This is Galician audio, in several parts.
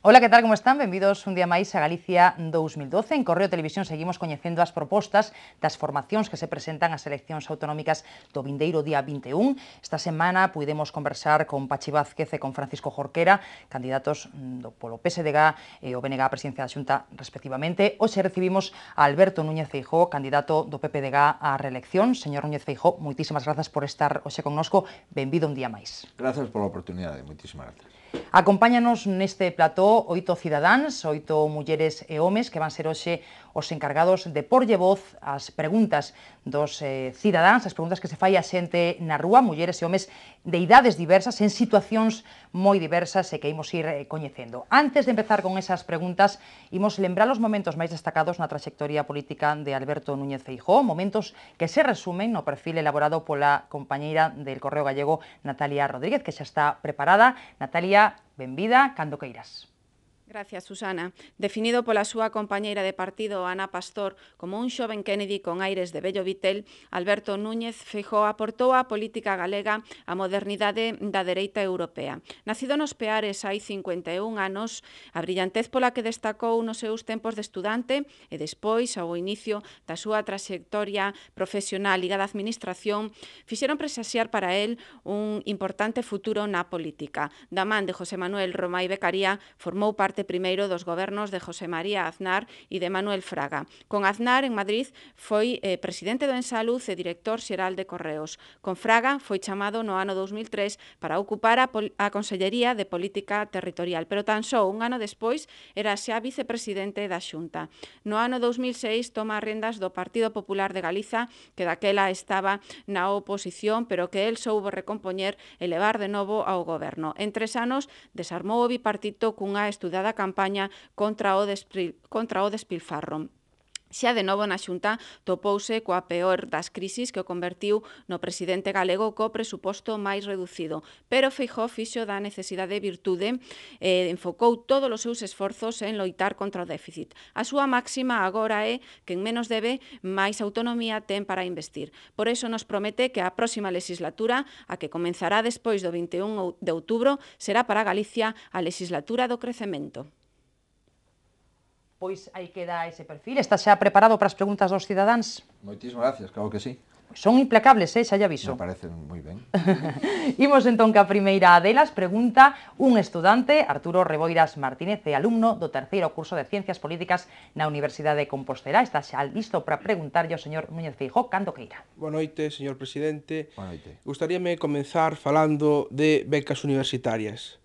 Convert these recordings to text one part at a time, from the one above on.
Ola, que tal, como están? Benvidos un día máis a Galicia 2012. En Correo Televisión seguimos coñecendo as propostas das formacións que se presentan ás eleccións autonómicas do vindeiro día 21. Esta semana puidemos conversar con Pachi Vázquez e con Francisco Jorquera, candidatos polo PSDG e o BNG á presidencia da Xunta, respectivamente. Hoxe recibimos a Alberto Núñez Feijóo, candidato do PPDG á reelección. Señor Núñez Feijóo, moitísimas grazas por estar hoxe connosco. Benvido un día máis. Grazas pola oportunidade, moitísimas grazas. Acompáñanos neste plató 8 cidadáns, 8 mulleres e homes que van ser hoxe os encargados de porlle voz ás preguntas dos cidadáns, as preguntas que se fai a xente na rúa, mulleres e homes de idades diversas, en situacións moi diversas e que imos ir coñecendo. Antes de empezar con esas preguntas, imos lembrar os momentos máis destacados na traxectoria política de Alberto Núñez Feijóo, momentos que se resumen no perfil elaborado pola compañeira del Correo Gallego, Natalia Rodríguez, que xa está preparada. Natalia, benvida, cando queiras. Gracias, Susana. Definido pola súa compañeira de partido, Ana Pastor, como un xoven Kennedy con aires de vello vitel, Alberto Núñez Feijóo aportou á política galega a modernidade da dereita europea. Nacido nos Peares hai 51 anos, a brillantez pola que destacou nos seus tempos de estudante e despois, ao inicio da súa traxectoria profesional ligada á administración, fixeron presaxiar para el un importante futuro na política. Da man de José Manuel Romai Beccaría, formou parte primeiro dos gobernos de José María Aznar e de Manuel Fraga. Con Aznar, en Madrid, foi presidente do Ensalud e director xeral de Correos. Con Fraga, foi chamado no ano 2003 para ocupar a Consellería de Política Territorial, pero tan só un ano despois era xa vicepresidente da Xunta. No ano 2006 toma as rendas do Partido Popular de Galiza, que daquela estaba na oposición, pero que el soubo recompoñer e levar de novo ao goberno. En 3 anos desarmou o bipartito cunha estudada campaña contra o despilfarro. Xa de novo na Xunta topouse coa peor das crisis que o convertiu no presidente galego co presuposto máis reducido. Pero Feijóo fixo da necesidade virtude e enfocou todos os seus esforzos en loitar contra o déficit. A súa máxima agora é que en menos debe, máis autonomía ten para investir. Por iso nos promete que a próxima legislatura, a que comenzará despois do 21 de outubro, será para Galicia a legislatura do crecemento. Pois aí queda ese perfil. Está xa preparado para as preguntas dos cidadáns? Moitísimas gracias, claro que sí. Son implacables, xa lle aviso. Me parecen moi ben. Imos entón que a primeira delas pregunta un estudante, Arturo Reboiras Martínez, é alumno do terceiro curso de Ciencias Políticas na Universidade de Compostela. Está xa listo para preguntarlle ao señor Núñez Feijóo cando queira. Boa noite, señor presidente. Boa noite. Gustaríame comenzar falando de becas universitarias.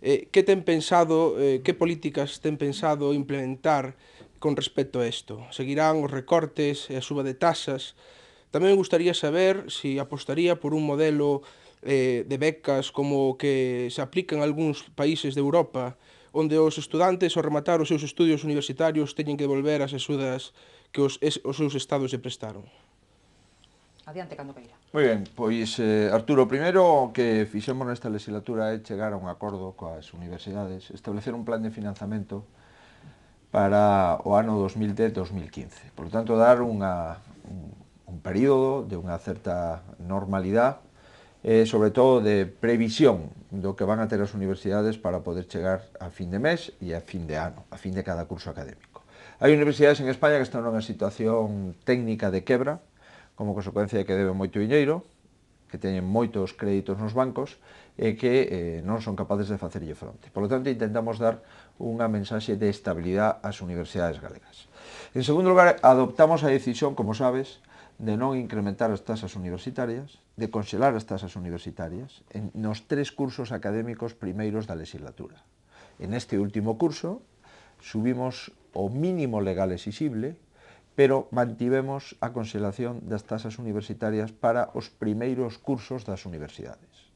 Que ten pensado, que políticas ten pensado implementar con respecto a isto? Seguirán os recortes e a suba de tasas? Tamén me gustaría saber se apostaría por un modelo de becas como que se aplica en algúns países de Europa, onde os estudantes, ao rematar os seus estudios universitarios, teñen que devolver as axudas que os seus estados lle prestaron. Adiante, cando queira. Moi ben, pois, Arturo, primeiro o que fixemos nesta legislatura é chegar a un acordo coas universidades, establecer un plan de financiamento para o ano 2010-2015. Por lo tanto, dar un período de unha certa normalidade e, sobre todo, de previsión do que van a ter as universidades para poder chegar a fin de mes e a fin de ano, a fin de cada curso académico. Hai universidades en España que están nunha situación técnica de quebra, como consecuencia de que deben moito diñeiro, que teñen moitos créditos nos bancos e que non son capaces de facerlle fronte. Por lo tanto, intentamos dar unha mensaxe de estabilidade ás universidades galegas. En segundo lugar, adoptamos a decisión, como sabes, de non incrementar as tasas universitarias, de conxelar as tasas universitarias nos 3 cursos académicos primeiros da legislatura. En este último curso, subimos o mínimo legal exixible, pero mantivemos a conxelación das tasas universitarias para os primeiros cursos das universidades.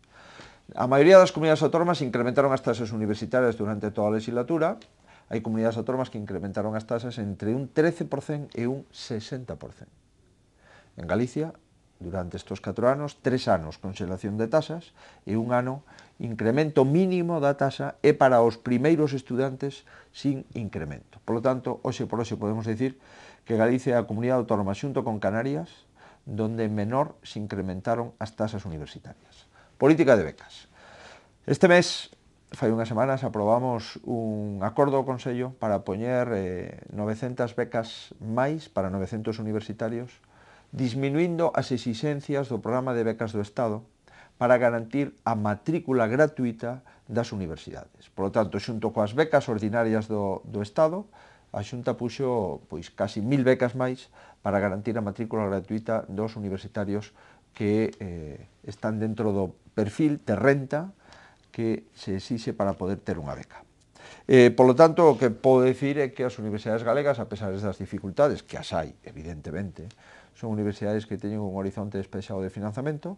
A maioría das comunidades autónomas incrementaron as tasas universitarias durante toda a legislatura. Hai comunidades autónomas que incrementaron as tasas entre un 13% e un 60%. En Galicia, durante estes 4 anos, 3 anos conxelación de tasas e un ano incremento mínimo da tasa e para os primeiros estudantes sin incremento. Por lo tanto, hoxe por hoxe podemos dicir que Galicia é a comunidade autónoma xunto con Canarias donde menor se incrementaron as tasas universitarias. Política de becas. Este mes fai unhas semanas aprobamos un acordo ao Consello para poñer 900 becas máis para 900 universitarios, disminuindo as exixencias do programa de becas do Estado para garantir a matrícula gratuita das universidades. Por lo tanto, xunto coas becas ordinarias do Estado, a Xunta puxo pois, casi 1000 becas máis para garantir a matrícula gratuita dos universitarios que están dentro do perfil de renta que se exixe para poder ter unha beca. Por lo tanto, o que podo dicir é que as universidades galegas, a pesar das dificultades, que as hai, evidentemente, son universidades que teñen un horizonte despexado de financiamento,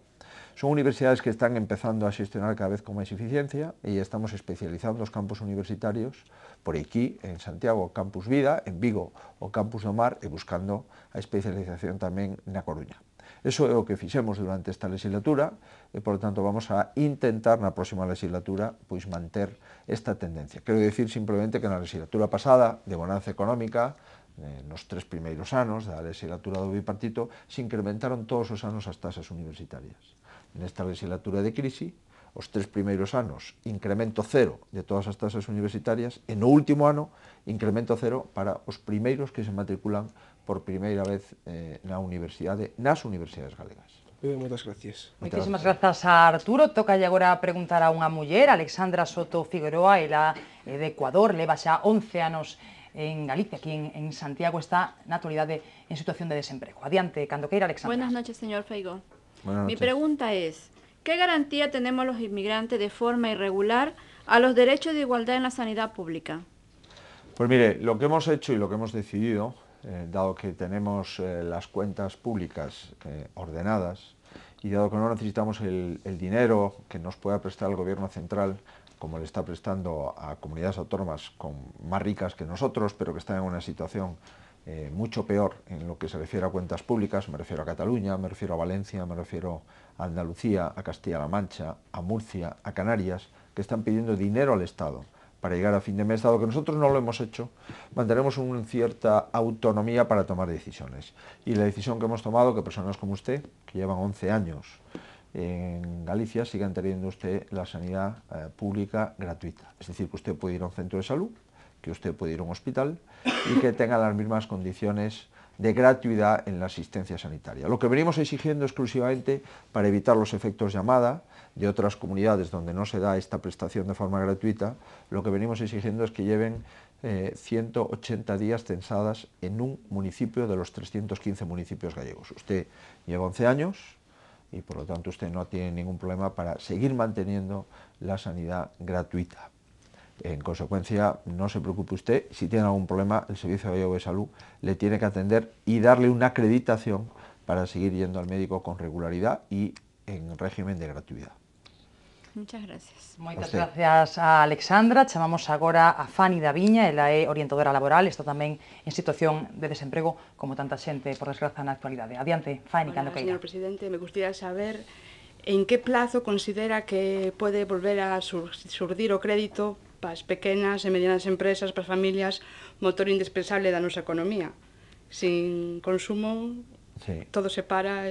son universidades que están empezando a xestionar cada vez con máis eficiencia e estamos especializando os campus universitarios por aquí, en Santiago, o Campus Vida, en Vigo, o Campus do Mar, e buscando a especialización tamén na Coruña. Eso é o que fixemos durante esta legislatura e, por lo tanto, vamos a intentar na próxima legislatura pois manter esta tendencia. Quero dicir simplemente que na legislatura pasada, de bonanza económica, nos 3 primeiros anos da legislatura do bipartito, se incrementaron todos os anos as tasas universitarias. Nesta legislatura de crise, os 3 primeiros anos, incremento cero de todas as tasas universitarias, e no último ano, incremento cero para os primeiros que se matriculan por primeira vez nas universidades galegas. Moitas gracias. Moitísimas grazas a Arturo. Toca agora preguntar a unha muller, Alexandra Soto Figueroa, ela é de Ecuador, leva xa 11 anos en Galicia, aquí en Santiago, está na actualidade en situación de desemprego. Adiante, cando queira, Alexandra. Buenas noches, señor Feijó. Buenas noches. Mi pregunta es, ¿qué garantía tenemos los inmigrantes de forma irregular a los derechos de igualdad en la sanidad pública? Pues mire, lo que hemos hecho y lo que hemos decidido, dado que tenemos las cuentas públicas ordenadas y dado que no necesitamos el dinero que nos pueda prestar el gobierno central, como le está prestando a comunidades autónomas más ricas que nosotros, pero que están en una situación mucho peor en lo que se refiere a cuentas públicas, me refiero a Cataluña, me refiero a Valencia, me refiero a Andalucía, a Castilla-La Mancha, a Murcia, a Canarias, que están pidiendo dinero al Estado para llegar a fin de mes. Dado que nosotros no lo hemos hecho, mantenemos una cierta autonomía para tomar decisiones. Y la decisión que hemos tomado, que personas como usted, que llevan 11 años en Galicia, sigan teniendo usted la sanidad pública gratuita. Es decir, que usted puede ir a un centro de salud, que usted puede ir a un hospital y que tenga las mismas condiciones de gratuidad en la asistencia sanitaria. Lo que venimos exigiendo exclusivamente para evitar los efectos llamada de otras comunidades donde no se da esta prestación de forma gratuita, lo que venimos exigiendo es que lleven 180 días censadas en un municipio de los 315 municipios gallegos. Usted lleva 11 años y por lo tanto usted no tiene ningún problema para seguir manteniendo la sanidad gratuita. En consecuencia, no se preocupe usted, si tiene algún problema, el Servicio Gallego de Salud le tiene que atender y darle una acreditación para seguir yendo al médico con regularidad y en régimen de gratuidad. Muchas gracias. Moitas gracias a Alexandra. Chamamos agora a Fanny da Viña, ela é orientadora laboral, está tamén en situación de desemprego, como tanta xente, por desgraza, na actualidade. Adiante, Fanny, cando queira. Señor presidente, me gustaría saber en que plazo considera que pode volver a surdir o crédito para as pequenas e medianas empresas, para as familias, motor indispensable da nosa economía. Sin consumo, sí, todo se para,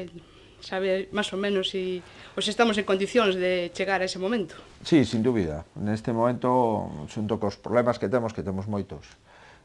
sabe máis ou menos se estamos en condicións de chegar a ese momento. Sí, sin dúbida. Neste momento, xunto cos problemas que temos moitos,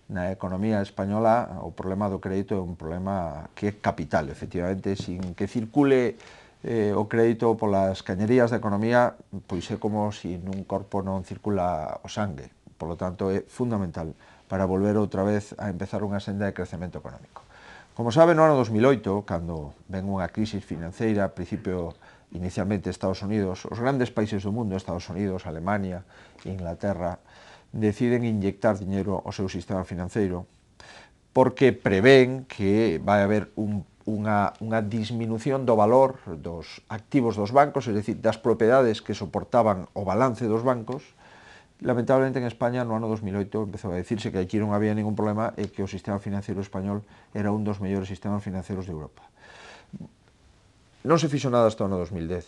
na economía española, o problema do crédito é un problema que é capital, efectivamente, sin que circule o crédito polas cañerías da economía, pois é como se nun corpo non circula o sangue. Por lo tanto, é fundamental para volver outra vez a empezar unha senda de crecemento económico. Como sabe, no ano 2008, cando ven unha crisis financeira, a principio, inicialmente, Estados Unidos, os grandes países do mundo, Estados Unidos, Alemania, Inglaterra, deciden inyectar dinero ao seu sistema financeiro porque prevén que vai haber unha disminución do valor dos activos dos bancos, es decir, das propiedades que soportaban o balance dos bancos. Lamentablemente en España no ano 2008 empezou a decirse que aquí non había ningún problema e que o sistema financiero español era un dos mellores sistemas financieros de Europa. Non se fixo nada hasta o ano 2010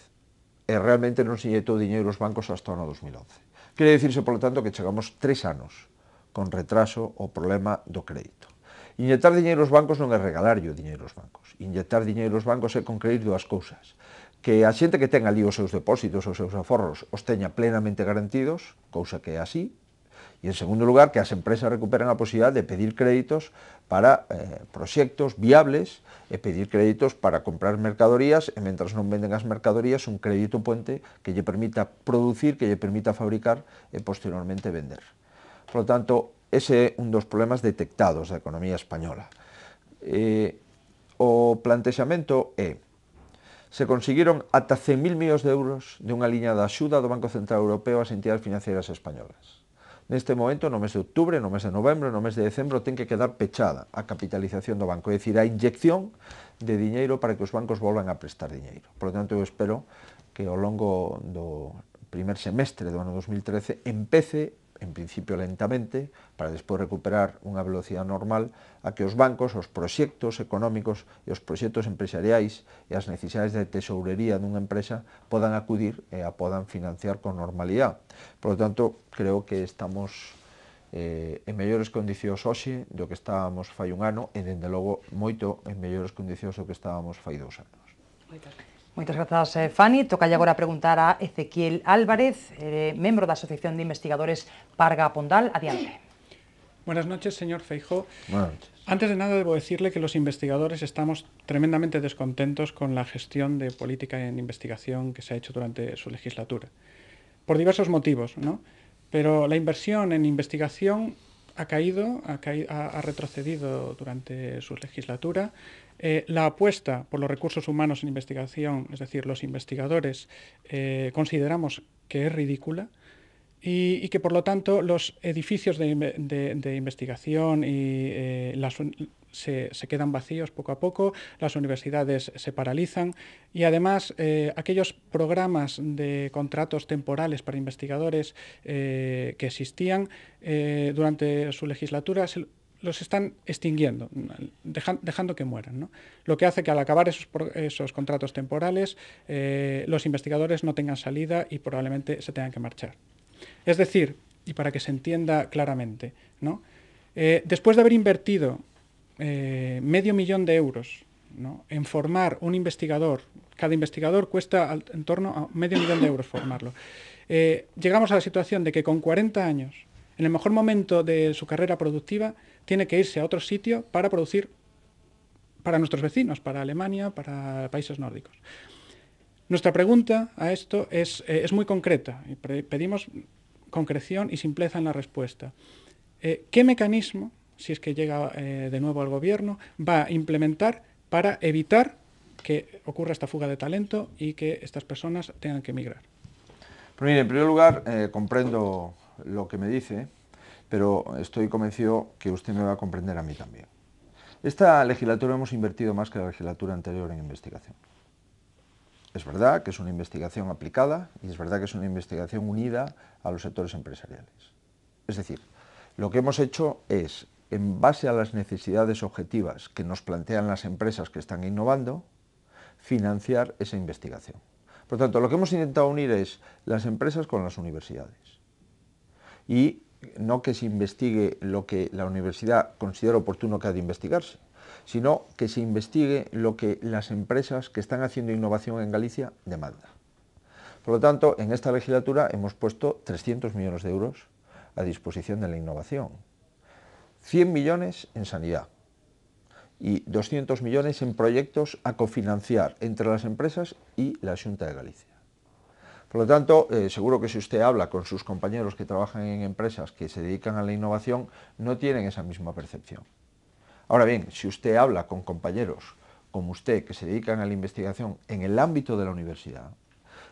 e realmente non se inyectou diñeiro aos bancos hasta o ano 2011. Quere dicirse, por lo tanto, que chegamos 3 anos con retraso ao problema do crédito. Inyectar diñeiro aos bancos non é regalarlle o diñeiro aos bancos. Inyectar diñeiro aos bancos é concreir dúas cousas. que a xente que ten ali os seus depósitos, os seus aforros, os teña plenamente garantidos, cousa que é así, e, en segundo lugar, que as empresas recuperen a posibilidade de pedir créditos para proxectos viables e pedir créditos para comprar mercadorías e, mentras non venden as mercadorías, un crédito puente que lle permita producir, que lle permita fabricar e, posteriormente, vender. Por lo tanto, ese é un dos problemas detectados da economía española. O plantexamento é: se conseguiron ata 100.000 millóns de euros de unha liña de axuda do Banco Central Europeo ás entidades financieras españolas. Neste momento, no mes de outubro, no mes de novembro, no mes de decembro, ten que quedar pechada a capitalización do banco, é dicir, a inyección de diñeiro para que os bancos volvan a prestar diñeiro. Por lo tanto, eu espero que ao longo do primer semestre do ano 2013 empece, en principio lentamente, para despois recuperar unha velocidade normal, a que os bancos, os proxectos económicos e os proxectos empresariais e as necesidades de tesourería dunha empresa podan acudir e a podan financiar con normalidade. Por lo tanto, creo que estamos en mellores condicións hoxe do que estábamos fai un ano e, dende logo, moito en mellores condicións do que estábamos fai 2 anos. Moitas gracias. Moitas grazas, Fanny. Toca agora preguntar a Ezequiel Álvarez, membro da Asociación de Investigadores Parga Pondal. Adiante. Buenas noches, señor Feijóo. Buenas noches. Antes de nada, debo decirle que los investigadores estamos tremendamente descontentos con la gestión de política en investigación que se ha hecho durante su legislatura, por diversos motivos, ¿no? Pero la inversión en investigación ha retrocedido durante su legislatura. La apuesta por los recursos humanos en investigación, es decir, los investigadores, consideramos que es ridícula y que, por lo tanto, los edificios de investigación se quedan vacíos poco a poco, las universidades se paralizan y, además, aquellos programas de contratos temporales para investigadores que existían durante su legislatura los están extinguiendo, dejando que mueran, ¿no? Lo que hace que, al acabar esos contratos temporales, los investigadores no tengan salida y probablemente se tengan que marchar. Es decir, y para que se entienda claramente, ¿no? Después de haber invertido $500.000 de euros, ¿no?, en formar un investigador, cada investigador cuesta en torno a $500.000 de euros formarlo, llegamos a la situación de que con 40 años, en el mejor momento de su carrera productiva, tiene que irse a otro sitio para producir para nuestros vecinos, para Alemania, para países nórdicos. Nuestra pregunta a esto es muy concreta y pedimos concreción y simpleza en la respuesta. ¿Qué mecanismo, si es que llega de nuevo al gobierno, va a implementar para evitar que ocurra esta fuga de talento y que estas personas tengan que emigrar? Pues mire, en primer lugar, comprendo lo que me dice, pero estoy convencido que usted me va a comprender a mí también. Esta legislatura hemos invertido más que la legislatura anterior en investigación. Es verdad que es una investigación aplicada y es verdad que es una investigación unida a los sectores empresariales. Es decir, lo que hemos hecho es, en base a las necesidades objetivas que nos plantean las empresas que están innovando, financiar esa investigación. Por lo tanto, lo que hemos intentado unir es las empresas con las universidades. Y no que se investigue lo que la universidad considera oportuno que ha de investigarse, sino que se investigue lo que las empresas que están haciendo innovación en Galicia demandan. Por lo tanto, en esta legislatura hemos puesto 300 millones de euros a disposición de la innovación, 100 millones en sanidad y 200 millones en proyectos a cofinanciar entre las empresas y la Xunta de Galicia. Por lo tanto, seguro que si usted habla con sus compañeros que trabajan en empresas que se dedican a la innovación, no tienen esa misma percepción. Ahora bien, si usted habla con compañeros como usted que se dedican a la investigación en el ámbito de la universidad,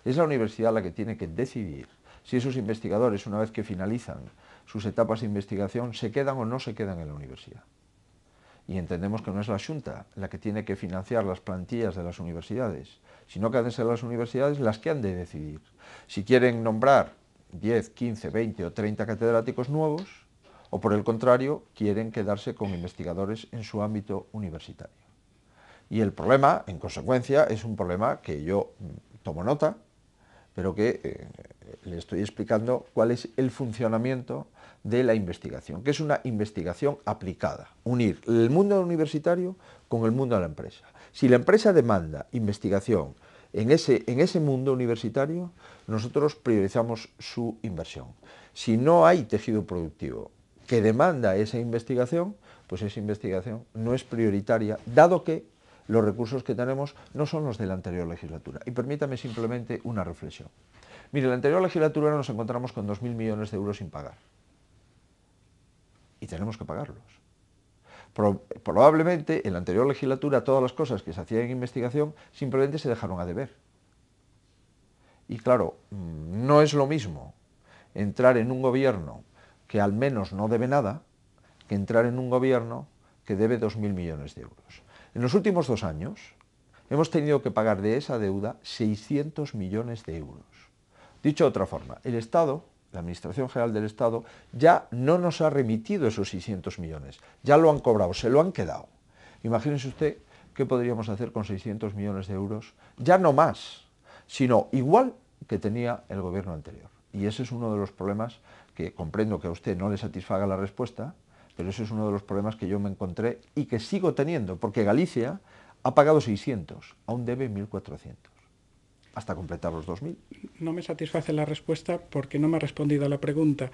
es la universidad la que tiene que decidir si esos investigadores, una vez que finalizan sus etapas de investigación, se quedan o no se quedan en la universidad. Y entendemos que no es la Xunta la que tiene que financiar las plantillas de las universidades, sino que han de ser las universidades las que han de decidir si quieren nombrar 10, 15, 20 o 30 catedráticos nuevos o, por el contrario, quieren quedarse con investigadores en su ámbito universitario. Y el problema, en consecuencia, es un problema que yo tomo nota, pero que le estoy explicando cuál es el funcionamiento de la investigación, que es una investigación aplicada, unir el mundo universitario con el mundo de la empresa. Si la empresa demanda investigación en ese mundo universitario nosotros priorizamos su inversión. Si no hay tejido productivo que demanda esa investigación, pues esa investigación no es prioritaria, dado que los recursos que tenemos no son los de la anterior legislatura. Y permítame simplemente una reflexión. Mire, en la anterior legislatura nos encontramos con 2.000 millones de euros sin pagar. Y tenemos que pagarlos. Probablemente en la anterior legislatura todas las cosas que se hacían en investigación simplemente se dejaron a deber. Y claro, no es lo mismo entrar en un gobierno que al menos no debe nada que entrar en un gobierno que debe 2.000 millones de euros. En los últimos 2 años hemos tenido que pagar de esa deuda 600 millones de euros. Dicho de otra forma, el Estado, la Administración General del Estado, ya no nos ha remitido esos 600 millones, ya lo han cobrado, se lo han quedado. Imagínese usted qué podríamos hacer con 600 millones de euros, ya no más, sino igual que tenía el gobierno anterior. Y ese es uno de los problemas que comprendo que a usted no le satisfaga la respuesta, pero ese es uno de los problemas que yo me encontré y que sigo teniendo, porque Galicia ha pagado 600, aún debe 1.400, hasta completar los 2.000. No me satisface la respuesta porque no me ha respondido a la pregunta.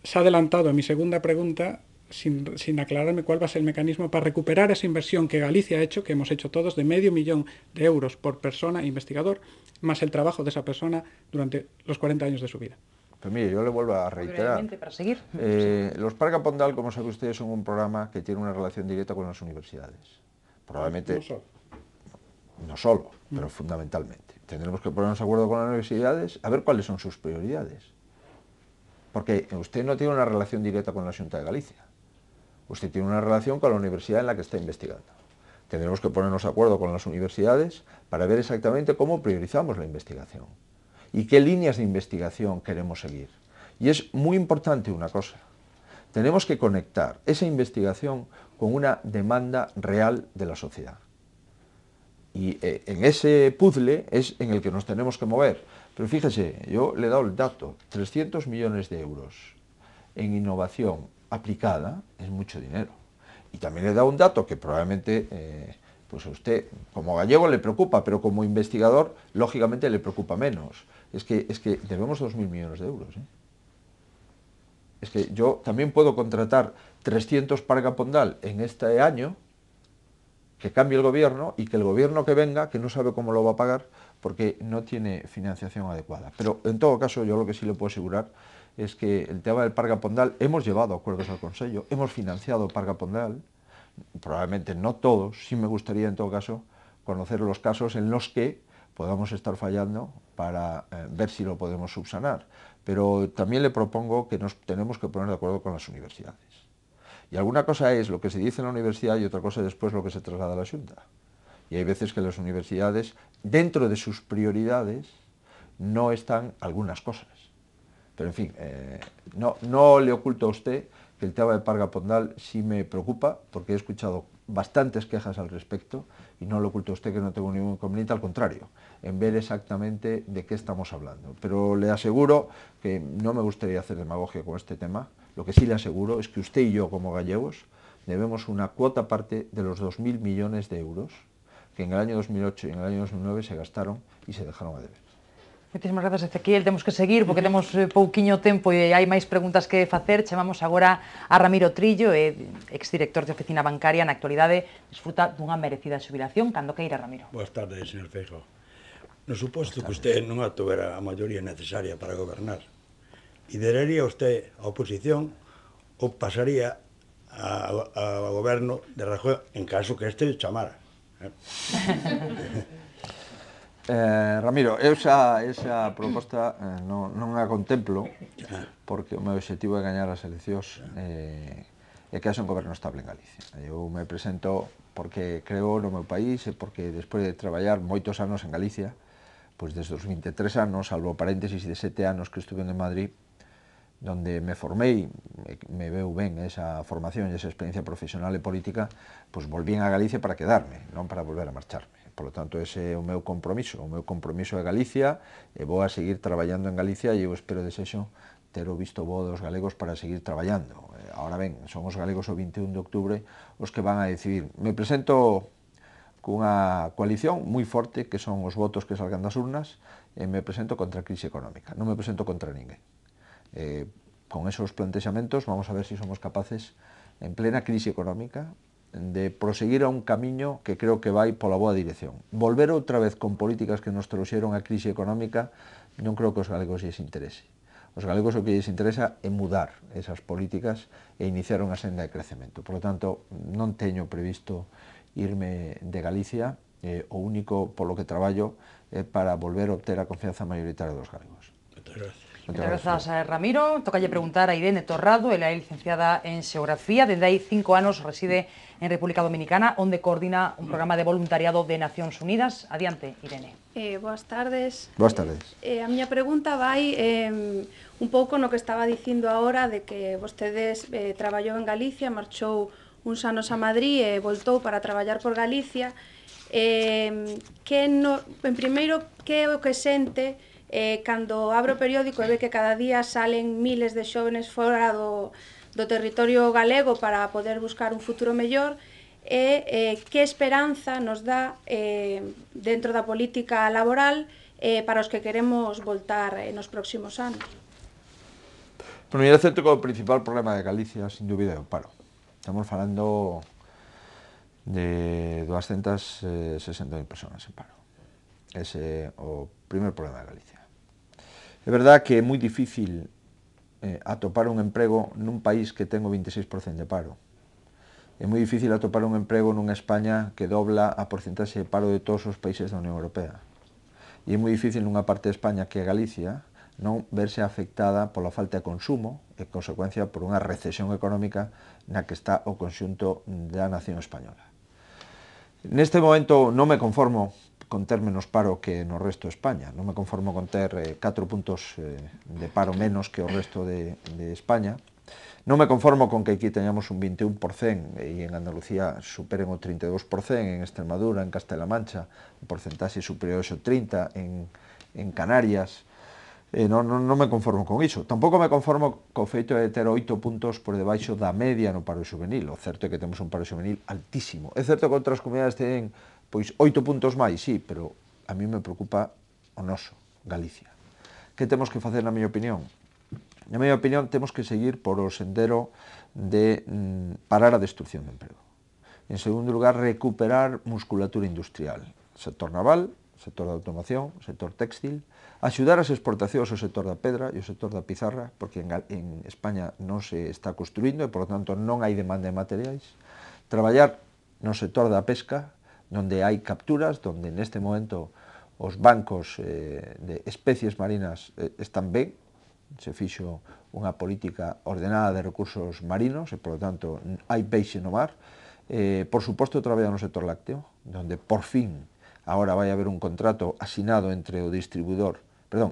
Se ha adelantado a mi segunda pregunta sin aclararme cuál va a ser el mecanismo para recuperar esa inversión que Galicia ha hecho, que hemos hecho todos, de €500.000 por persona e investigador, más el trabajo de esa persona durante los 40 años de su vida. Pues mire, yo le vuelvo a reiterar. Para seguir. Los Parga Pondal, como sabe usted, son un programa que tiene una relación directa con las universidades. Probablemente... No solo, pero fundamentalmente. Tendremos que ponernos de acuerdo con las universidades a ver cuáles son sus prioridades. Porque usted no tiene una relación directa con la Xunta de Galicia. Usted tiene una relación con la universidad en la que está investigando. Tendremos que ponernos de acuerdo con las universidades para ver exactamente cómo priorizamos la investigación y qué líneas de investigación queremos seguir. Y es muy importante una cosa. Tenemos que conectar esa investigación con una demanda real de la sociedad. Y en ese puzzle es en el que nos tenemos que mover. Pero fíjese, yo le he dado el dato, 300 millones de euros en innovación aplicada es mucho dinero. Y también le he dado un dato que probablemente pues a usted como gallego le preocupa, pero como investigador lógicamente le preocupa menos. Es que debemos 2.000 millones de euros. Es que yo también puedo contratar 300 Parga Pondal en este año, que cambie el gobierno y que el gobierno que venga, que no sabe cómo lo va a pagar porque no tiene financiación adecuada. Pero en todo caso yo lo que sí le puedo asegurar es que el tema del Parga Pondal, hemos llevado acuerdos al Consejo, hemos financiado Parga Pondal, probablemente no todos, sí me gustaría en todo caso conocer los casos en los que podamos estar fallando para ver si lo podemos subsanar. Pero también le propongo que nos tenemos que poner de acuerdo con las universidades. Y alguna cosa es lo que se dice en la universidad y otra cosa es después lo que se traslada a la Xunta. Y hay veces que las universidades, dentro de sus prioridades, no están algunas cosas. Pero en fin, no le oculto a usted que el tema de Parga Pondal sí me preocupa, porque he escuchado bastantes quejas al respecto, y no le oculto a usted que no tengo ningún inconveniente, al contrario, en ver exactamente de qué estamos hablando. Pero le aseguro que no me gustaría hacer demagogia con este tema. Lo que sí le aseguro es que usted y yo, como gallegos, debemos una cuota parte de los 2.000 millones de euros que en el año 2008 y en el año 2009 se gastaron y se dejaron a deber. Moitísimas grazas, Ezequiel. Temos que seguir porque temos pouquiño tempo e hai máis preguntas que facer. Chamamos agora a Ramiro Trillo, exdirector de Oficina Bancaria. Na actualidade desfruta dunha merecida xubilación. Cando queira, Ramiro. Boas tardes, señor Feijóo. No suposto que usted non atuvera a maioría necesaria para gobernar, lideraría usted a oposición ou pasaría ao goberno de Rajoy en caso que este chamara? Ramiro, esa proposta non a contemplo porque o meu objetivo é gañar as eleccións e que haxa un goberno estable en Galicia. Eu me presento porque creo no meu país e porque despois de traballar moitos anos en Galicia, pois desde os 23 anos, salvo paréntesis de 7 anos que estuve en Madrid, donde me formei, me veu ben esa formación e esa experiencia profesional e política, pois volvín a Galicia para quedarme, non para volver a marcharme. Por lo tanto, ese é o meu compromiso. O meu compromiso é Galicia, e vou a seguir traballando en Galicia e eu espero desexo ter o visto bo dos galegos para seguir traballando. Ahora ben, son os galegos o 21 de octubre os que van a decidir. Me presento cunha coalición moi forte que son os votos que salgan das urnas e me presento contra a crise económica, non me presento contra ninguén. Con esos plantexamentos vamos a ver se somos capaces en plena crise económica de proseguir a un camiño que creo que vai pola boa dirección. Volver outra vez con políticas que nos trouxeron a crise económica non creo que os galegos lles interese. Os galegos o que lles interesa é mudar esas políticas e iniciar unha senda de crecemento. Por lo tanto, non teño previsto irme de Galicia, o único polo que traballo é para volver a obter a confianza maioritaria dos galegos. Moitas gracias. Moitas grazas, Ramiro. Tocalle preguntar a Irene Torrado, ela é licenciada en Xeografía, dende hai 5 anos reside en República Dominicana, onde coordina un programa de voluntariado de Nacións Unidas. Adiante, Irene. Boas tardes. Boas tardes. A miña pregunta vai un pouco no que estaba dicindo agora de que vostedes traballou en Galicia, marchou uns anos a Madrid e voltou para traballar por Galicia. En primeiro, que é o que sente cando abre o periódico e ve que cada día salen miles de xóvenes fora do territorio galego para poder buscar un futuro mellor, e que esperanza nos dá dentro da política laboral para os que queremos voltar nos próximos anos? Bueno, eu acepto que o principal problema de Galicia, sin dúbida, é o paro. Estamos falando de 260.000 personas en paro. Ese é o primer problema de Galicia. É verdad que é moi difícil atopar un emprego nun país que ten o 26% de paro. É moi difícil atopar un emprego nunha España que dobla a porcentaxe de paro de todos os países da Unión Europea. E é moi difícil nunha parte de España que é Galicia non verse afectada pola falta de consumo e, en consecuencia, por unha recesión económica na que está o conxunto da nación española. Neste momento non me conformo con ter menos paro que no resto de España. Non me conformo con ter 4 puntos de paro menos que o resto de España. Non me conformo con que aquí teñamos un 21% e en Andalucía superen o 32%, en Extremadura, en Castela Mancha, un porcentaxe superior ao 30%, en Canarias. Non me conformo con iso. Tampouco me conformo co feito de ter 8 puntos por debaixo da media no paro xuvenil. O certo é que temos un paro xuvenil altísimo. É certo que outras comunidades teñen 8 puntos máis, sí, pero a mí me preocupa o noso, Galicia. Que temos que facer, na miña opinión? Na miña opinión, temos que seguir por o sendero de parar a destrucción de emprego. En segundo lugar, recuperar musculatura industrial. Sector naval, sector de automoción, sector textil, axudar as exportacións ao sector da pedra e ao sector da pizarra, porque en España non se está construindo e, por lo tanto, non hai demanda de materiais. Traballar no sector da pesca, onde hai capturas, onde neste momento os bancos de especies marinas están ben, se fixo unha política ordenada de recursos marinos e, por lo tanto, hai peixe no mar. Por suposto, traballa no sector lácteo, onde, por fin, agora vai haber un contrato asinado entre o distribuidor,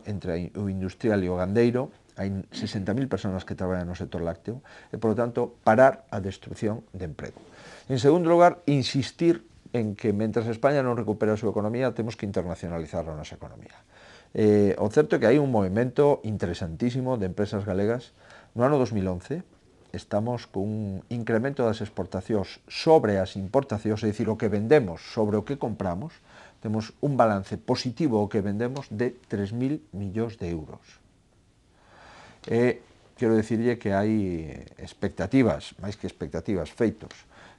entre o industrial e o gandeiro. Hai 60.000 personas que traballan no sector lácteo e, por lo tanto, parar a destrucción de emprego. En segundo lugar, insistir en que, mentras España non recupera a súa economía, temos que internacionalizar a nosa economía. O certo é que hai un movimento interesantísimo de empresas galegas. No ano 2011 estamos cun incremento das exportacións sobre as importacións, é dicir, o que vendemos sobre o que compramos. Temos un balance positivo o que vendemos de 3.000 millóns de euros. Quero dicirlle que hai expectativas, máis que expectativas, feitos,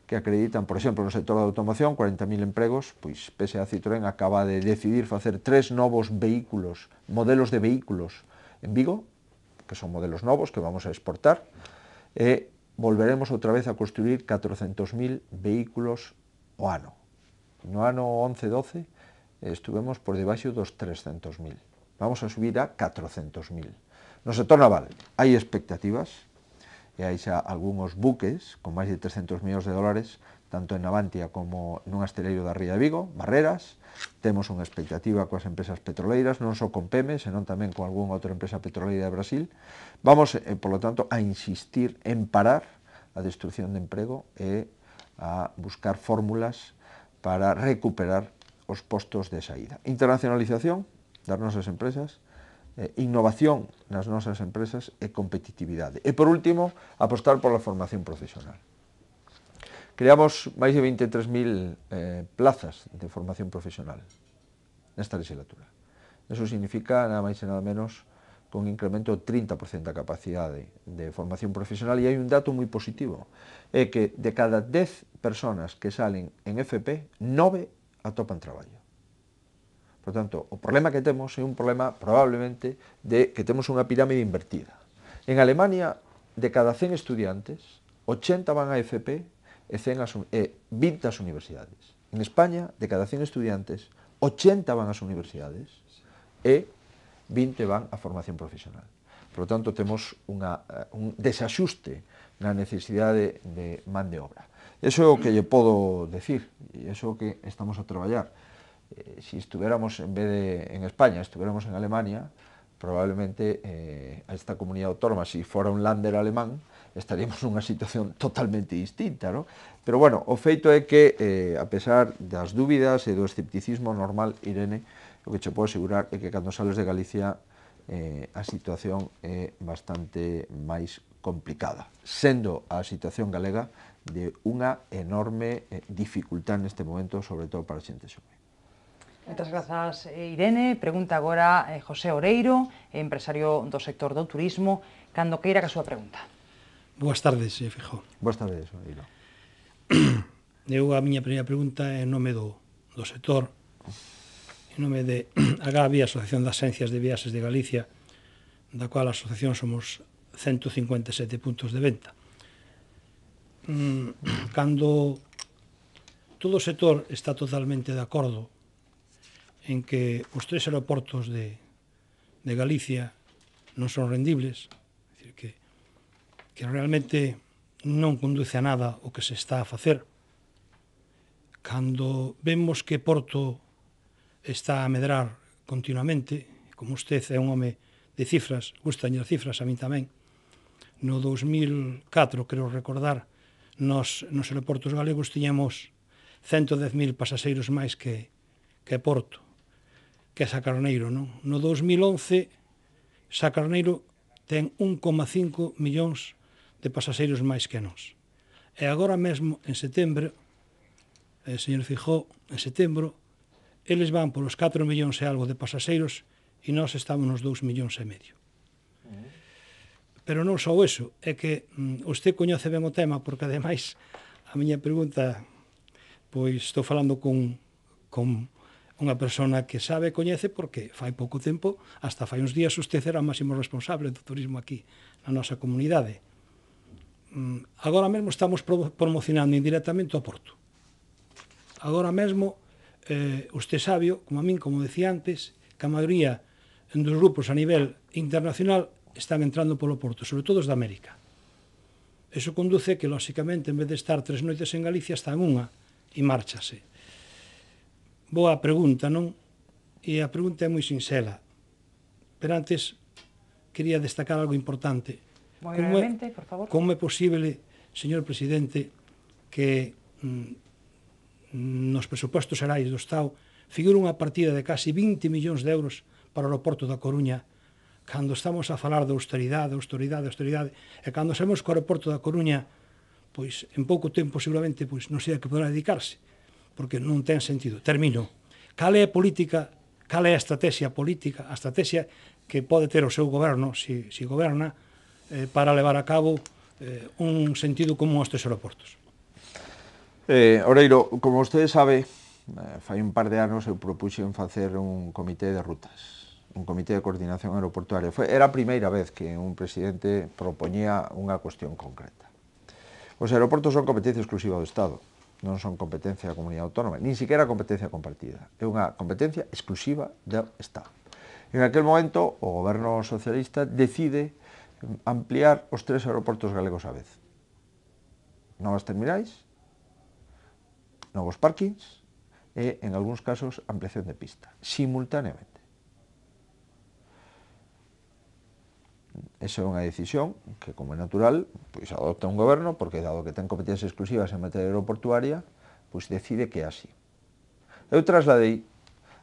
que acreditan, por exemplo, no sector da automoción, 40.000 empregos, pois PSA Citroën acaba de decidir facer 3 novos vehículos, modelos de vehículos en Vigo, que son modelos novos que vamos a exportar, e volveremos outra vez a construir 400.000 vehículos o ano. No ano 11-12 estuvemos por debaixo dos 300.000. Vamos a subir a 400.000. No sector naval hai expectativas, e hai xa algúns buques con máis de 300 millóns de dólares, tanto en Navantia como nun asteleiro da Ría de Vigo, Barreras. Temos unha expectativa coas empresas petroleiras, non só con PEME, senón tamén con algunha outra empresa petroleira de Brasil. Vamos, por lo tanto, a insistir en parar a destrucción de emprego e a buscar fórmulas para recuperar os postos de saída. Internacionalización das nosas empresas, innovación nas nosas empresas e competitividade. E, por último, apostar pola formación profesional. Creamos máis de 23.000 plazas de formación profesional nesta legislatura. Eso significa nada máis e nada menos con un incremento do 30% da capacidade de formación profesional, e hai un dato moi positivo, é que de cada 10 personas que salen en FP, 9 atopan traballo. Por tanto, o problema que temos é un problema probablemente de que temos unha pirámide invertida. En Alemania, de cada 100 estudiantes, 80 van a FP e 20 ás universidades. En España, de cada 100 estudiantes, 80 van ás universidades e 20 van á formación profesional. Por lo tanto, temos un desaxuste na necesidade de man de obra. Eso é o que lle podo decir, e iso é o que estamos a traballar. Si estuviéramos, en vez de en España, estuviéramos en Alemania, probablemente a esta comunidade autónoma, si fora un Länder alemán, estaríamos nunha situación totalmente distinta, ¿no? Pero bueno, o feito é que, a pesar das dúbidas e do escepticismo normal, Irene, o que che podo asegurar é que cando sales de Galicia a situación é bastante máis complicada, sendo a situación galega de unha enorme dificultad neste momento, sobre todo para a xente xove. Moitas grazas, Irene. Pregunta agora José Oreiro, empresario do sector do turismo, cando queira que a súa pregunta. Boas tardes, Feijóo. Boas tardes, Oreiro. A miña primeira pregunta é en nome do sector, en nome de AGAVI, Asociación das Axencias de Viaxes de Galicia, da cual a asociación somos 157 puntos de venta. Cando todo o sector está totalmente de acordo en que os 3 aeroportos de Galicia non son rendibles, é dicir, que realmente non conduce a nada o que se está a facer. Cando vemos que Porto está a medrar continuamente, como usted é un home de cifras, gustan as cifras, a min tamén, no 2004, creo recordar, nos aeroportos galegos tiñamos 110.000 pasaxeiros máis que Porto, que é Sacarneiro, non? No 2011, Sacarneiro ten 1,5 millóns de pasaxeiros máis que nós. E agora mesmo, en setembro, señor Feijóo, en setembro, eles van polos 4 millóns e algo de pasaxeiros e nós estamos nos 2 millóns e medio. Pero non só eso, é que usted coñece ben o tema, porque ademais a miña pregunta, pois estou falando con unha persona que sabe e coñece, porque fai pouco tempo, hasta fai uns días, usted era o máximo responsable do turismo aquí na nosa comunidade. Agora mesmo estamos promocionando indirectamente o Porto. Agora mesmo, usted sabe, como a min, como decía antes, que a maioría dos grupos a nivel internacional están entrando polo Porto, sobre todo os de América. Eso conduce que, lóxicamente, en vez de estar 3 noites en Galicia, está en unha e márchase. Boa pregunta, non? E a pregunta é moi sinxela. Pero antes, quería destacar algo importante. Moi brevemente, por favor. Como é posible, señor presidente, que nos presupostos xerais do Estado figura unha partida de casi 20 millóns de euros para o aeroporto da Coruña, cando estamos a falar de austeridade, e cando sabemos que o aeroporto da Coruña, pois, en pouco tempo, seguramente, pois, non sei a que poderá dedicarse, porque non ten sentido. Termino. Cal é a política, cal é a estrategia política, a estrategia que pode ter o seu goberno, si goberna, para levar a cabo un sentido común aos 3 aeroportos? Oreiro, como vostede sabe, fai un par de anos eu propuxen facer un comité de rutas, un comité de coordinación aeroportuaria. Era a primeira vez que un presidente propoñía unha cuestión concreta. Os aeroportos son competencia exclusiva do Estado, non son competencia da comunidade autónoma, nin siquiera competencia compartida, é unha competencia exclusiva do Estado. En aquel momento, o goberno socialista decide ampliar os 3 aeroportos galegos á vez. Novas terminais, novos parkings e, en algúns casos, ampliación de pista, simultaneamente. Esa é unha decisión que, como é natural, pois adopta un goberno, porque dado que ten competencias exclusivas en materia aeroportuaria, pois decide que é así. Eu trasladei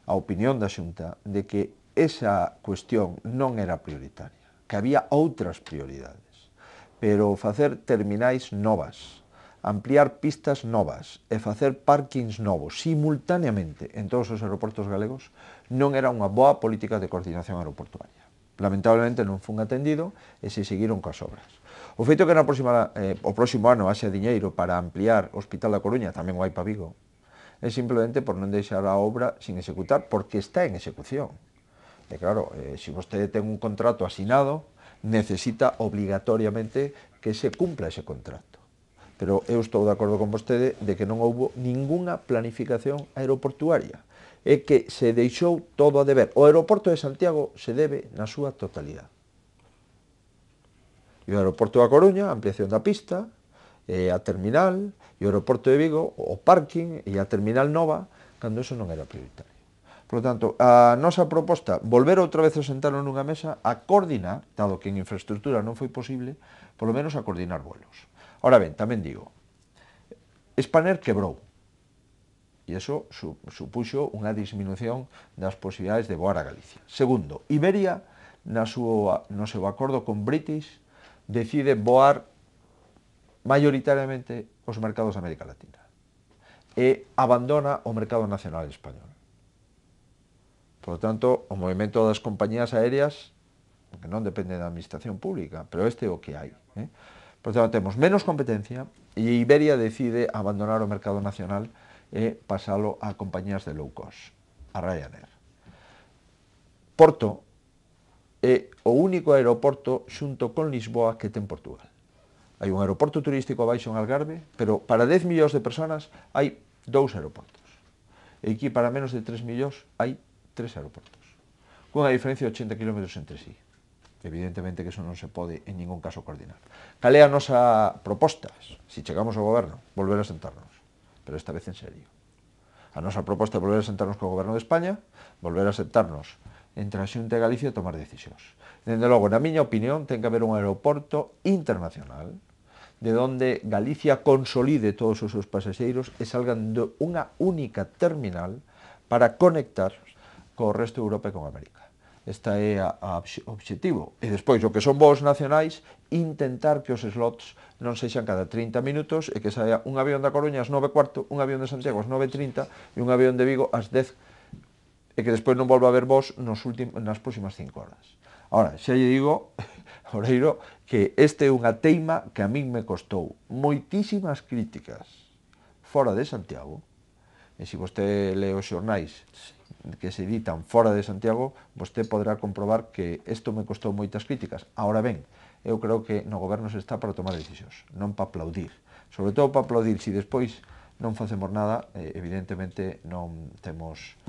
a opinión da Xunta de que esa cuestión non era prioritaria, que había outras prioridades, pero facer terminais novas, ampliar pistas novas e facer parkings novos simultaneamente en todos os aeroportos galegos non era unha boa política de coordinación aeroportuaria. Lamentablemente non fun atendido e se seguiron coas obras. O feito que o próximo ano haxa diñeiro para ampliar o Hospital da Coruña, tamén o hai para Vigo, é simplemente por non deixar a obra sin executar, porque está en execución. E claro, se vostede ten un contrato asinado, necesita obligatoriamente que se cumpla ese contrato. Pero eu estou de acordo con vostede de que non houbo ningunha planificación aeroportuaria, e que se deixou todo a deber. O aeroporto de Santiago se debe na súa totalidade. E o aeroporto da Coruña, a ampliación da pista, e a terminal, e o aeroporto de Vigo, o parking e a terminal nova, cando eso non era prioritario. Por lo tanto, a nosa proposta, volver outra vez a sentarnos nunha mesa a coordinar, dado que en infraestructura non foi posible, polo menos a coordinar vuelos. Ahora ben, tamén digo, Spanair quebrou, e iso supuxo unha disminución das posibilidades de voar a Galicia. Segundo, Iberia, no seu acordo con British, decide voar maioritariamente os mercados de América Latina e abandona o mercado nacional español. Por lo tanto, o movimento das compañías aéreas, que non depende da administración pública, pero este é o que hai. Por tanto, temos menos competencia e Iberia decide abandonar o mercado nacional e pasalo a compañías de low cost, a Ryanair. Porto é o único aeroporto xunto con Lisboa que ten Portugal. Hai un aeroporto turístico abaixo en Algarve, pero para 10 millóns de personas hai 2 aeroportos. E aquí para menos de 3 millóns hai 3 aeroportos, cunha diferencia de 80 km entre sí. Evidentemente que eso non se pode en ningún caso coordinar. Cal é a nosa proposta? Se chegamos ao goberno, volver a sentarnos, pero esta vez en serio. A nosa proposta é volver a sentarnos co goberno de España, volver a sentarnos entre a Xunta e Galicia e tomar decisións. Dende logo, na miña opinión, ten que haber un aeroporto internacional de onde Galicia consolide todos os seus pasaxeiros e salgan de unha única terminal para conectar co resto de Europa e con América. Esta é o obxectivo. E despois, o que son voos nacionais, intentar que os slots non sexan cada 30 minutos e que saia un avión da Coruña ás 9:15, un avión de Santiago ás 9:30 e un avión de Vigo ás 10, e que despois non volva a haber voos nas próximas 5 horas. Ahora, xa lle digo, Oreiro, que este é unha teima que a min me costou moitísimas críticas fora de Santiago, e se vostede lee os xornais que se editan fora de Santiago, vostede poderá comprobar que isto me costou moitas críticas. Ahora ben, eu creo que no goberno se está para tomar decisións, non para aplaudir. Sobre todo para aplaudir, se despois non facemos nada, evidentemente non temos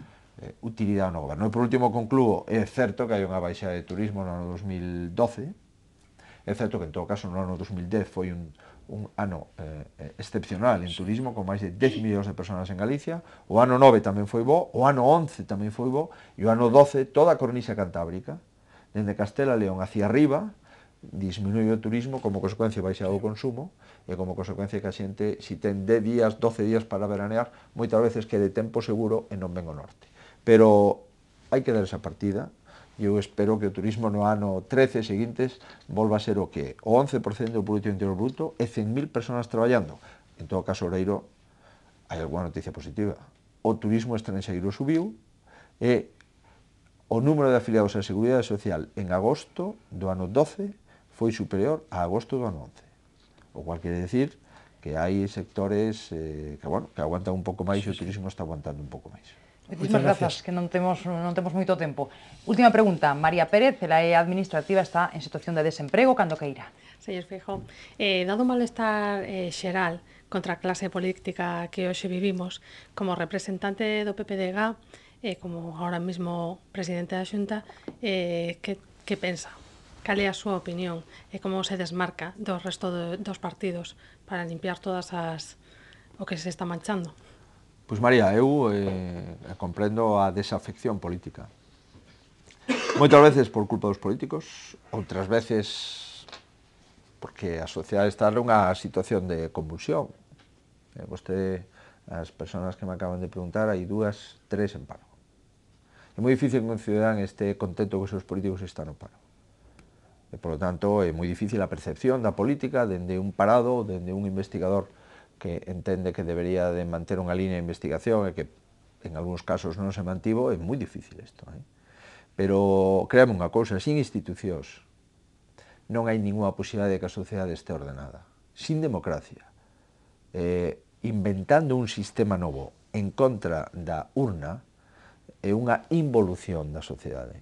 utilidade no goberno. E por último concluo, é certo que hai unha baixa de turismo no ano 2012, é certo que en todo caso no ano 2010 foi un ano excepcional en turismo, con máis de 10 millóns de personas en Galicia. O ano 9 tamén foi bo, o ano 11 tamén foi bo, e o ano 12 toda a cornisa cantábrica, dende Castela León hacia arriba, disminuiu o turismo, como consecuencia baixado o consumo, e como consecuencia que a xente, se ten 10 días, 12 días para veranear, moitas veces que de tempo seguro e non ven o norte. Pero hai que dar esa partida, e eu espero que o turismo no ano 13 seguintes volva a ser o que é, o 11% do Produto Interior Bruto e 100.000 personas traballando. En todo caso, Oreiro, hai alguna noticia positiva. O turismo estranxeiro subiu e o número de afiliados á Seguridade Social en agosto do ano 12 foi superior a agosto do ano 11. O cual quere decir que hai sectores que aguantan un pouco máis e o turismo está aguantando un pouco máis. Moitísimas grazas, que non temos moito tempo. Última pregunta, María Pérez, ela é administrativa, está en situación de desemprego, cando queira. Señor Feijóo, dado o malestar xeral contra a clase política que hoxe vivimos, como representante do PPDG, como ahora mesmo presidente da Xunta, que pensa? Cal é a súa opinión e como se desmarca do resto dos partidos para limpiar todas o que se está manchando? Pois María, eu comprendo a desafección política. Moitas veces por culpa dos políticos, outras veces porque a sociedade está nunha situación de convulsión. Vostede, as persoas que me acaban de preguntar, hai 2, 3 en paro. É moi difícil que un cidadán este contento que os seus políticos están no paro. E, por lo tanto, é moi difícil a percepción da política dende un parado, dende un investigador que entende que debería de manter unha línea de investigación e que en algúns casos non se mantivo, é moi difícil isto. Pero créame unha cousa, sin institucións non hai ninguna posibilidade de que a sociedade este ordenada. Sin democracia, inventando un sistema novo en contra da urna, é unha involución da sociedade.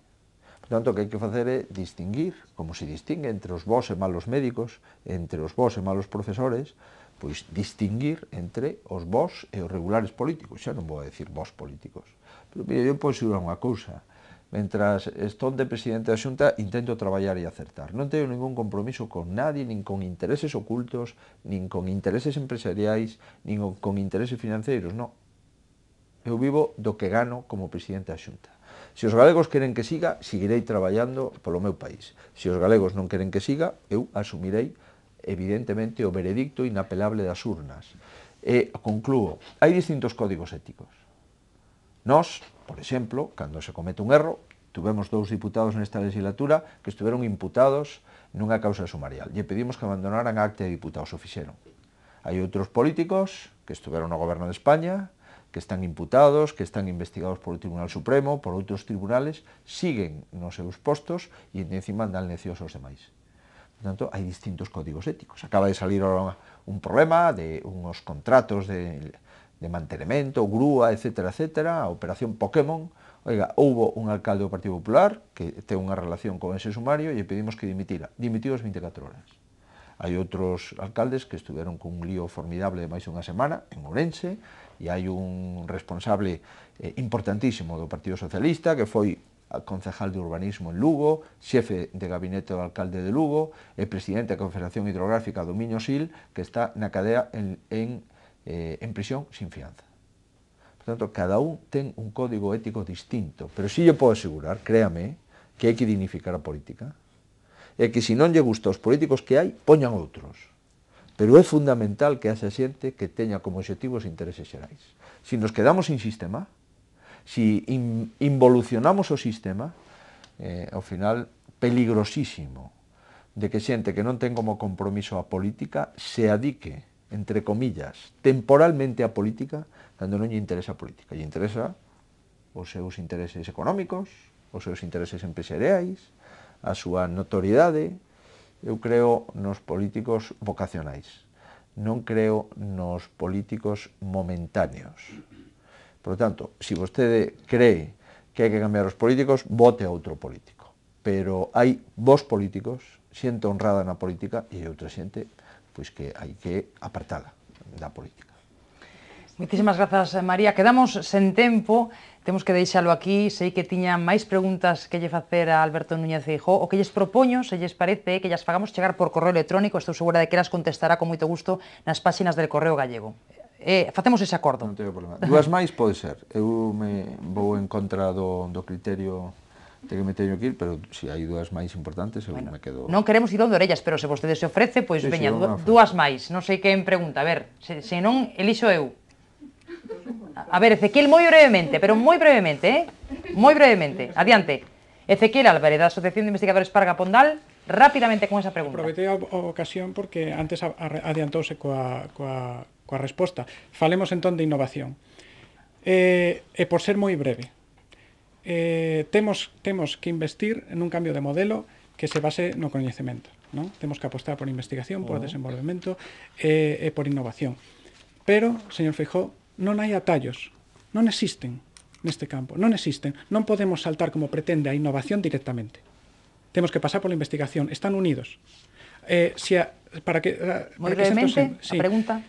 Por tanto, o que hai que facer é distinguir, como se distingue entre os bons e malos médicos, entre os bons e malos profesores, pois distinguir entre os bons e os regulares políticos. Xa non vou a decir bons políticos. Pero, mire, eu podo segurar unha cousa. Mentras estou de presidente da Xunta, intento traballar e acertar. Non teño ningún compromiso con nadie, nin con intereses ocultos, nin con intereses empresariais, nin con intereses financeiros, non. Eu vivo do que gano como presidente da Xunta. Se os galegos queren que siga, seguirei traballando polo meu país. Se os galegos non queren que siga, eu asumirei evidentemente o veredicto inapelable das urnas. E conclúo, hai distintos códigos éticos. Nós, por exemplo, cando se comete un erro, tuvemos 2 diputados nesta legislatura que estiveron imputados nunha causa sumarial. E pedimos que abandonaran a acta de diputados, o fixeron. Hai outros políticos que estiveron no goberno de España, que están imputados, que están investigados por o Tribunal Supremo, por outros tribunales, siguen nos seus postos e encima dan leccións aos demais. Por tanto, hai distintos códigos éticos. Acaba de salir un problema de unos contratos de mantenimento, grúa, etcétera, etcétera, a operación Pokémon. Oiga, houbo un alcalde do Partido Popular que ten unha relación con ese sumario e pedimos que dimitira. Dimitiu as 24 horas. Hai outros alcaldes que estiveron con un lío formidable de máis de unha semana en Ourense, e hai un responsable importantísimo do Partido Socialista que foi concejal de urbanismo en Lugo, xefe de gabinete do alcalde de Lugo e presidente da Confederación Hidrográfica do Miño Sil, que está na cadea en prisión sin fianza. Por tanto, cada un ten un código ético distinto, pero si lle podo asegurar, créame, que hai que dignificar a política, e que se non lle gusta aos políticos que hai, poñan outros. Pero é fundamental que haxa xente que teña como objetivo os intereses xerais. Se nos quedamos sin sistema, si involucionamos o sistema, ao final, peligrosísimo de que xente que non ten como compromiso a política se adique, entre comillas, temporalmente a política, cando non lle interesa a política. Lle interesa os seus intereses económicos, os seus intereses empresariais, a súa notoriedade. Eu creo nos políticos vocacionais, non creo nos políticos momentáneos. Por lo tanto, se vostede cree que hai que cambiar os políticos, vote a outro político. Pero hai vos políticos, xente honrada na política, e outra xente pois que hai que apartala da política. Moitísimas grazas, María. Quedamos sen tempo, temos que deixalo aquí. Sei que tiña máis preguntas que lle facer a Alberto Núñez Feijóo. O que lles propoño, se lles parece, que llas fagamos chegar por correo electrónico. Estou segura de que las contestará con moito gusto nas páxinas del Correo Gallego. Facemos ese acordo. Non teño problema. Dúas máis pode ser. Eu me vou en contra do criterio de que me teño que ir, pero se hai dúas máis importantes, eu me quedo... Non queremos ir onde orellas, pero se vostede se ofrece, pois veña, dúas máis. Non sei quen pregunta. A ver, se non, elixo eu. A ver, Ezequiel, moi brevemente, pero moi brevemente, moi brevemente. Adiante. Ezequiel Álvarez, da Asociación de Investigadores Parga Pondal, rápidamente con esa pregunta. Aproveitei a ocasión porque antes adiantouse coa resposta. Falemos entón de innovación. E por ser moi breve, temos que investir en un cambio de modelo que se base no coñecemento, non? Temos que apostar por investigación, por desenvolvemento e por innovación. Pero, señor Feijóo, non hai atallos, non existen neste campo, non existen. Non podemos saltar como pretende a innovación directamente. Temos que pasar pola investigación, están unidos. Moi brevemente, a pregunta.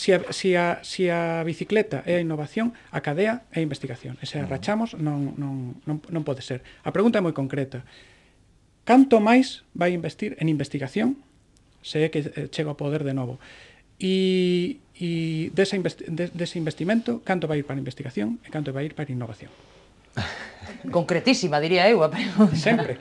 Se a bicicleta é a innovación, a cadea é a investigación. E se a rachamos, non pode ser. A pregunta é moi concreta. Canto máis vai investir en investigación se é que chega ao poder de novo? E dese investimento, canto vai ir para a investigación e canto vai ir para a innovación? Concretísima, diría eu, a pregunta. Sempre.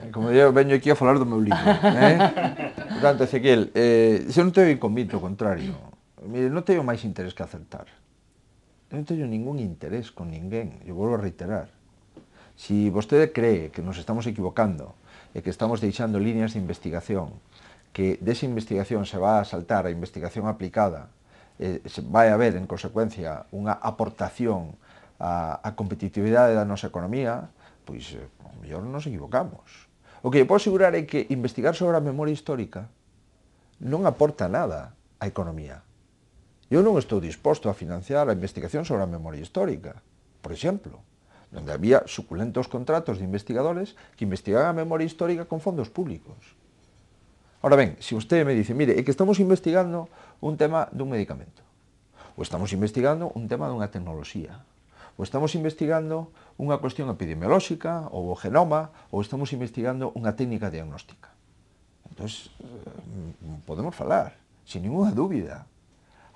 Como eu veño aquí a falar do meu libro. Por tanto, Ezequiel, se non teño convite, ao contrario. Mire, non teño máis interés que acertar. Non teño ningún interés con ninguén, eu volvo a reiterar. Se vostede cree que nos estamos equivocando e que estamos deixando líneas de investigación que desa investigación se va a saltar a investigación aplicada, vai haber, en consecuencia, unha aportación á competitividade da nosa economía, pois, ao mellor nos equivocamos. O que eu podo asegurar é que investigar sobre a memoria histórica non aporta nada á economía. Eu non estou disposto a financiar a investigación sobre a memoria histórica, por exemplo, donde había suculentos contratos de investigadores que investigaban a memoria histórica con fondos públicos. Ahora ben, se usted me dice, mire, é que estamos investigando un tema dun medicamento, ou estamos investigando un tema dunha tecnoloxía, ou estamos investigando unha cuestión epidemiolóxica, ou o genoma, ou estamos investigando unha técnica diagnóstica. Entón, podemos falar, sin ninguna dúbida.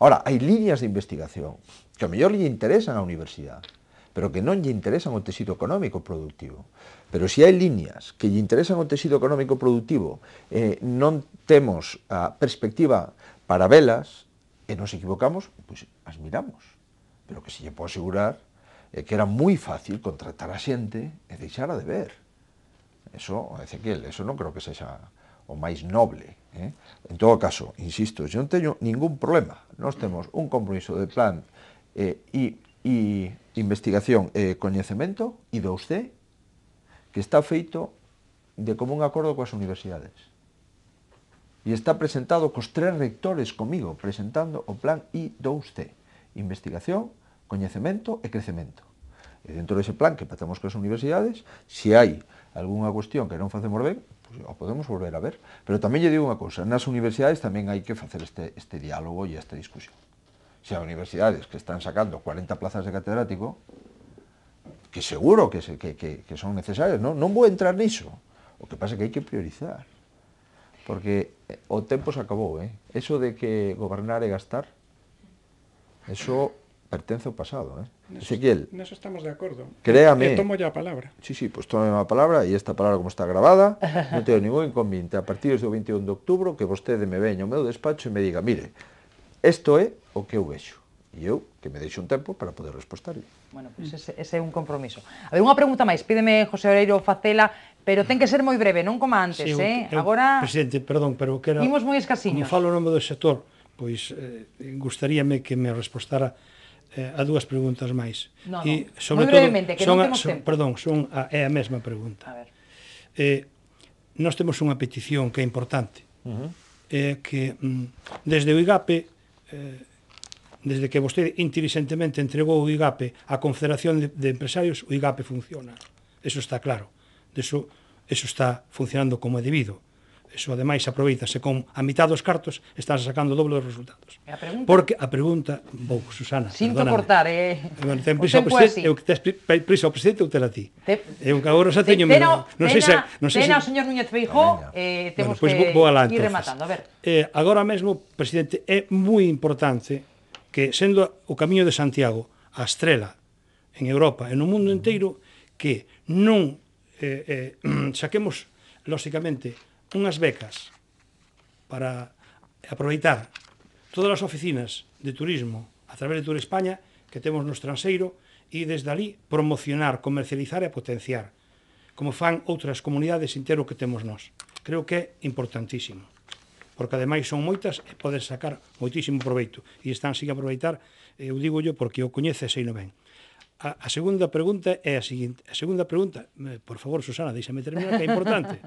Ahora, hai líneas de investigación que ao mellor lle interesan á universidade, pero que non lle interesan o tecido económico productivo. Pero se hai líneas que lle interesan o tecido económico productivo, non temos a perspectiva para velas, e nos equivocamos, pois as miramos. Pero que se lle pode asegurar que era moi fácil contratar a xente e deixara de ver. Eso, Ezequiel, eso non creo que sexa o máis noble. En todo caso, insisto, eu non teño ningún problema. Nós temos un compromiso de plan e investigación e coñecemento, I+D, que está feito de común acordo coas universidades. E está presentado cos 3 rectores comigo, presentando o plan I+D, investigación, coñecemento e crecemento. E dentro dese plan que patamos coas universidades, se hai algunha cuestión que non facemos ben, pues, o podemos volver a ver. Pero tamén lle digo unha cousa, nas universidades tamén hai que facer este diálogo e esta discusión. Se hai universidades que están sacando 40 plazas de catedrático, que seguro que son necesarias, non vou entrar niso. O que pasa é que hai que priorizar. Porque o tempo se acabou, Eso de que gobernar e gastar, eso pertence ao pasado, Ezequiel. Neso estamos de acordo. Créame. Tomo ya a palabra. Sí, pues tome a palabra, e esta palabra como está grabada, non teño ningún inconveniente a partir do 21 de outubro que vostede me veña ao meu despacho e me diga, mire, isto é o que eu vexo. E eu que me deixo un tempo para poder respostarlle. Bueno, pois ese é un compromiso. A ver, unha pregunta máis, pídeme José Oreiro facela, pero ten que ser moi breve, non como antes, Agora... Presidente, perdón, pero que era... Imos moi escasiños. Como falo o nome do sector, pois gustaríame que me respostara a dúas preguntas máis. No, moi brevemente, que non temos tempo. Perdón, é a mesma pregunta. A ver. Nós temos unha petición que é importante, que desde o IGAPE, desde que vostede inteligentemente entregou o IGAPE á Confederación de Empresarios, o IGAPE funciona. Eso está claro. Eso está funcionando como é debido. Eso, ademais, aproveitase con a mitad dos cartos, están sacando o doble dos resultados. E a pregunta? Porque a pregunta, Susana, sinto cortar, ten prisa o presidente, eu que tes prisa o presidente ou tela ti? Eu que agora xa teño menos. Tena o señor Núñez Feijóo, temos que ir rematando. A ver. Agora mesmo, presidente, é moi importante que, sendo o Camiño de Santiago a estrela en Europa e no mundo inteiro, que non saquemos, lóxicamente, unhas becas para aproveitar todas as oficinas de turismo a través de Tour España que temos no estranxeiro e desde ali promocionar, comercializar e potenciar, como fan outras comunidades inteiro que temos nós. Creo que é importantísimo, porque ademais son moitas e podes sacar moitísimo proveito e están sin aproveitar, eu digo yo porque o coñece e sei non ben. A segunda pregunta é a seguinte. A segunda pregunta, por favor, Susana, deixame terminar, que é importante.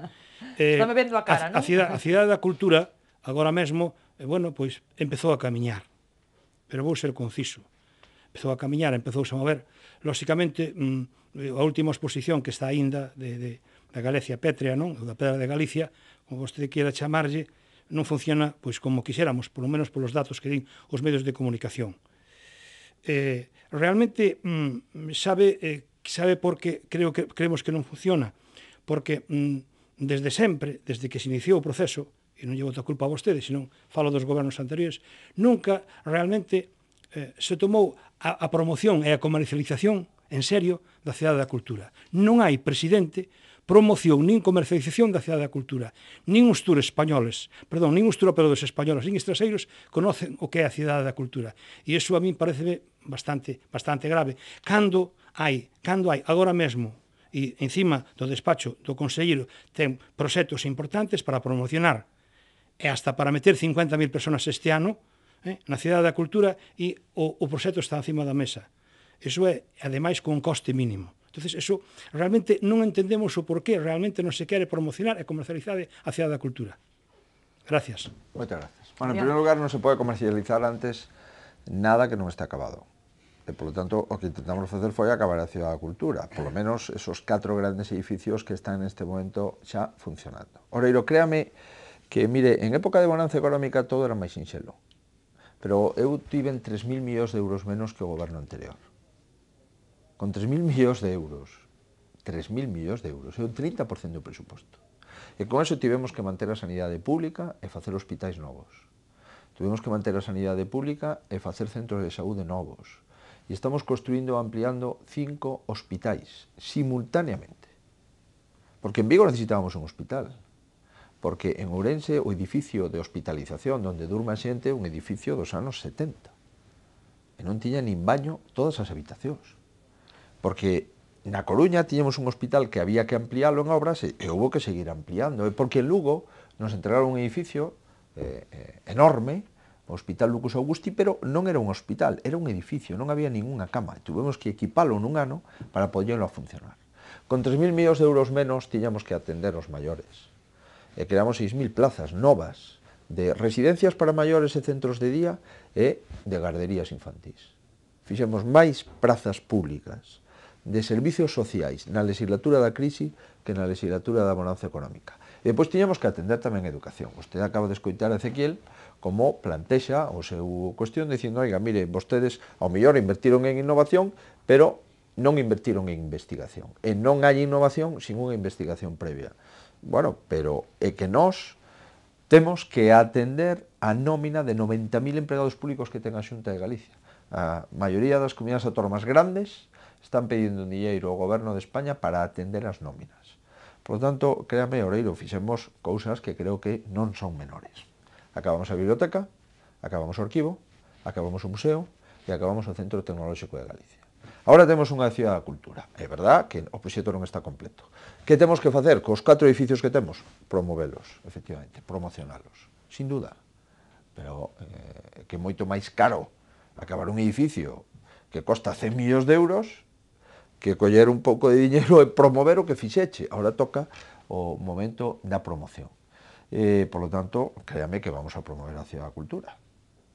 Estame vendo a cara, non? A Cidade da Cultura, agora mesmo, bueno, pois, empezou a camiñar. Pero vou ser conciso. Empezou a camiñar, empezouse a mover. Lóxicamente, a última exposición que está aínda da Galicia Pétrea, non? Da Pedra de Galicia, como vostede queira chamarlle, non funciona pois como quixéramos, polo menos polos datos que din os medios de comunicación. Realmente sabe por que creemos que non funciona, porque desde sempre, desde que se iniciou o proceso, e non llevo outra culpa a vostede, senón falo dos gobernos anteriores, nunca realmente se tomou a promoción e a comercialización en serio da Cidade da Cultura. Non hai presidente promoción nin comercialización da Cidade da Cultura. Nin os tour españoles, nin os tour operadores españoles, nin estraseiros conocen o que é a Cidade da Cultura. E iso a min parece bastante grave. Cando hai agora mesmo, e encima do despacho do conselleiro ten proxectos importantes para promocionar e hasta para meter 50.000 personas este ano na Cidade da Cultura, e o proxecto está encima da mesa. Iso é, ademais, con un coste mínimo. Entonces, eso realmente non entendemos o porqué realmente non se quere promocionar e comercializar a Cidade da Cultura. Gracias. Moitas gracias. Bueno, en primeiro lugar, non se pode comercializar antes nada que non está acabado. E, polo tanto, o que intentamos facer foi acabar a Cidade da Cultura. Polo menos esos 4 grandes edificios que están neste momento xa funcionando. Oreiro, créame que, mire, en época de bonanza económica todo era máis sinxelo. Pero eu tiven 3.000 millóns de euros menos que o goberno anterior. Con 3.000 millóns de euros, 3.000 millóns de euros, é un 30% do presuposto. E con eso tivemos que manter a sanidade pública e facer hospitais novos. Tivemos que manter a sanidade pública e facer centros de saúde novos. E estamos construindo e ampliando 5 hospitais simultáneamente. Porque en Vigo necesitábamos un hospital. Porque en Ourense o edificio de hospitalización onde durma a xente é un edificio dos anos 70. E non tiña nin baño todas as habitacións. Porque na Coruña tiñamos un hospital que había que ampliálo en obras e houve que seguir ampliando. E porque en Lugo nos entregaron un edificio enorme, o Hospital Lucas Augusti, pero non era un hospital, era un edificio, non había ninguna cama. Tuvemos que equipalo nun ano para poderlo a funcionar. Con 3.000 millóns de euros menos tiñamos que atender os maiores. E creamos 6.000 plazas novas de residencias para maiores e centros de día e de garderías infantís. Fixemos máis prazas públicas de servicios sociais na legislatura da crise que na legislatura da bonanza económica. E depois tiñamos que atender tamén a educación. Vostede acaba de escoitar a Ezequiel como plantexa o seu cuestión dicindo, oiga, mire, vostedes ao mellor invertiron en innovación, pero non invertiron en investigación. E non hai innovación sin unha investigación previa. Bueno, pero é que nós temos que atender a nómina de 90.000 empregados públicos que ten a Xunta de Galicia. A maioría das comunidades autónomas grandes están pedindo un dinheiro ao goberno de España para atender as nóminas. Por lo tanto, créame, Oreiro, fixemos cousas que creo que non son menores. Acabamos a biblioteca, acabamos o arquivo, acabamos o museo e acabamos o Centro Tecnolóxico de Galicia. Ahora temos unha Cidade da Cultura. É verdad que o proxecto non está completo. Que temos que facer cos 4 edificios que temos? Promovelos, efectivamente, promocionalos, sin duda. Pero que é moito máis caro acabar un edificio que costa 100 millóns de euros que coller un pouco de diñeiro e promover o que fixeche. Ahora toca o momento da promoción. Por lo tanto, créame que vamos a promover a Cidade da Cultura.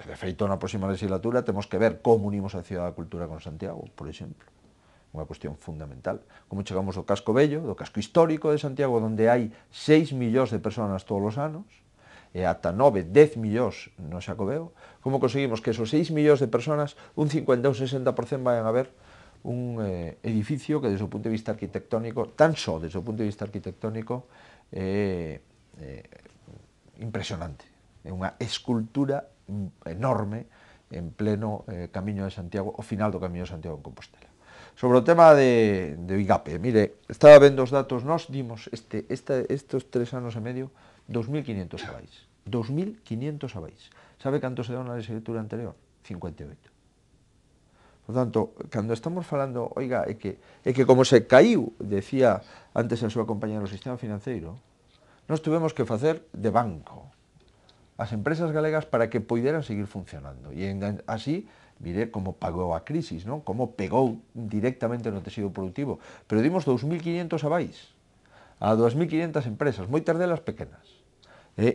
De feito, na próxima legislatura temos que ver como unimos a Cidade da Cultura con Santiago, por exemplo. Unha cuestión fundamental. Como chegamos do casco bello, do casco histórico de Santiago, onde hai 6 millóns de personas todos os anos, e ata 9, 10 millóns no Xacobeo, como conseguimos que esos 6 millóns de personas, un 50 ou 60% vayan a ver un edificio que desde o punto de vista arquitectónico, tan só desde o punto de vista arquitectónico, impresionante. É unha escultura enorme en pleno Camiño de Santiago, o final do Camiño de Santiago en Compostela. Sobre o tema de IGAPE, mire, estaba vendo os datos, nós dimos estes 3 anos e medio 2.500 abais. 2.500 abais. Sabe canto se deu na legislatura anterior? 58. Por tanto, cando estamos falando, oiga, é que como se caiu, decía antes a súa compañera, o sistema financeiro, nós tuvemos que facer de banco as empresas galegas para que poideran seguir funcionando. E así, mire como pagou a crisis, non? Como pegou directamente no tecido productivo. Pero dimos 2.500 abais a 2.500 empresas, moitas delas pequenas.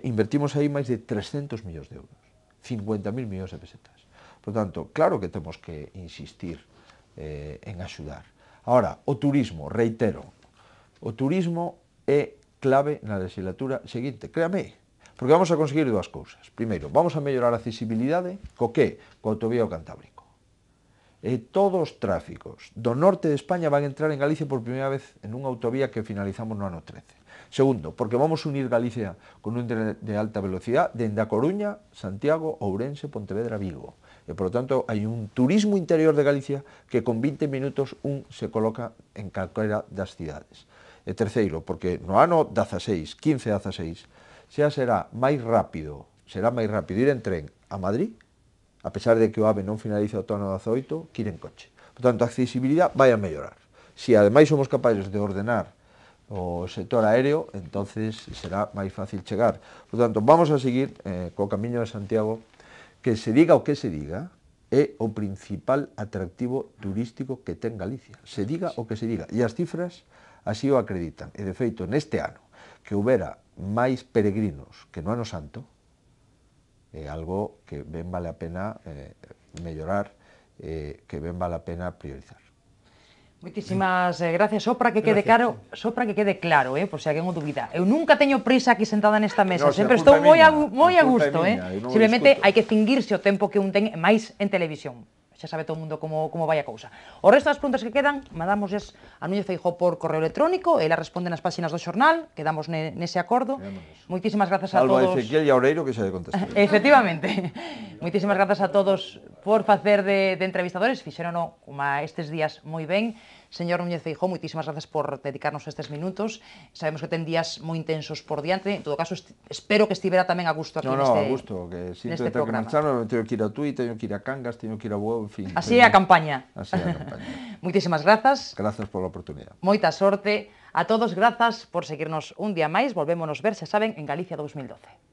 Invertimos aí máis de 300 millóns de euros, 50.000 millóns de pesetas. Por tanto, claro que temos que insistir en axudar. Ahora, o turismo, reitero, o turismo é clave na legislatura seguinte, créame, porque vamos a conseguir dúas cousas. Primeiro, vamos a mellorar a accesibilidade, co que? Co autovía ao Cantábrico. E todos os tráficos do norte de España van a entrar en Galicia por primeira vez en unha autovía que finalizamos no ano 13. Segundo, porque vamos a unir Galicia con un de alta velocidade dende a Coruña, Santiago, Ourense, Pontevedra, Vigo. E, por lo tanto, hai un turismo interior de Galicia que con 20 minutos se coloca en calquera das cidades. E terceiro, porque no ano 16, 15-16, xa será máis rápido ir en tren a Madrid, a pesar de que o AVE non finaliza o ano 18, que ir en coche. Por tanto, a accesibilidade vai a mellorar. Se ademais somos capaces de ordenar o sector aéreo, entonces será máis fácil chegar. Por tanto, vamos a seguir co camiño de Santiago, que se diga o que se diga, é o principal atractivo turístico que ten Galicia. Se diga o que se diga. E as cifras así o acreditan. E, de feito, neste ano, que houbera máis peregrinos que no Ano Santo, é algo que ben vale a pena mellorar, que ben vale a pena priorizar. Moitísimas gracias. Só para que quede claro, por se alguén o dubida. Eu nunca teño prisa aquí sentada nesta mesa, sempre estou moi a gusto, Simplemente hai que cingirse o tempo que un ten máis en televisión. Xa sabe todo o mundo como vai a cousa. O resto das preguntas que quedan, mandamosles a Núñez Feijóo por correo electrónico, ela responde nas páxinas do xornal, quedamos nese acordo. Moitísimas grazas a todos. Salvo a Ezequiel e a Oreiro que xa lle contestou. Efectivamente. Moitísimas grazas a todos por facer de entrevistadores, fixérono como estes días moi ben. Señor Núñez Feijóo, moitísimas grazas por dedicarnos estes minutos. Sabemos que ten días moi intensos por diante. En todo caso, espero que estivera tamén a gusto aquí a gusto, que sinto ter que marcharme, teño que ir a Tui, teño que ir a Cangas, teño que ir a Bueu, en fin. Así é a campaña. Así é a campaña. Moitísimas grazas. Grazas pola oportunidade. Moita sorte. A todos, grazas por seguirnos un día máis. Volvémonos ver, xa saben, en Galicia 2012.